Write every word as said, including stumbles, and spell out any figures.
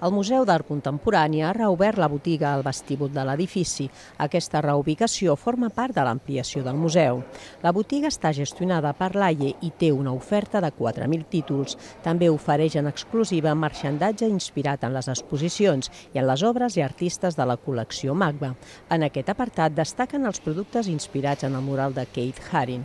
El Museu d'Art Contemporani ha reobert la botiga al vestíbul de l'edifici. Aquesta reubicació forma part de l'ampliació del museu. La botiga està gestionada per l'A I E i té una oferta de quatre mil títols. També ofereix en exclusiva marxandatge inspirat en les exposicions i en les obres i artistes de la col·lecció MACBA. En aquest apartat destaquen els productes inspirats en el mural de Keith Haring.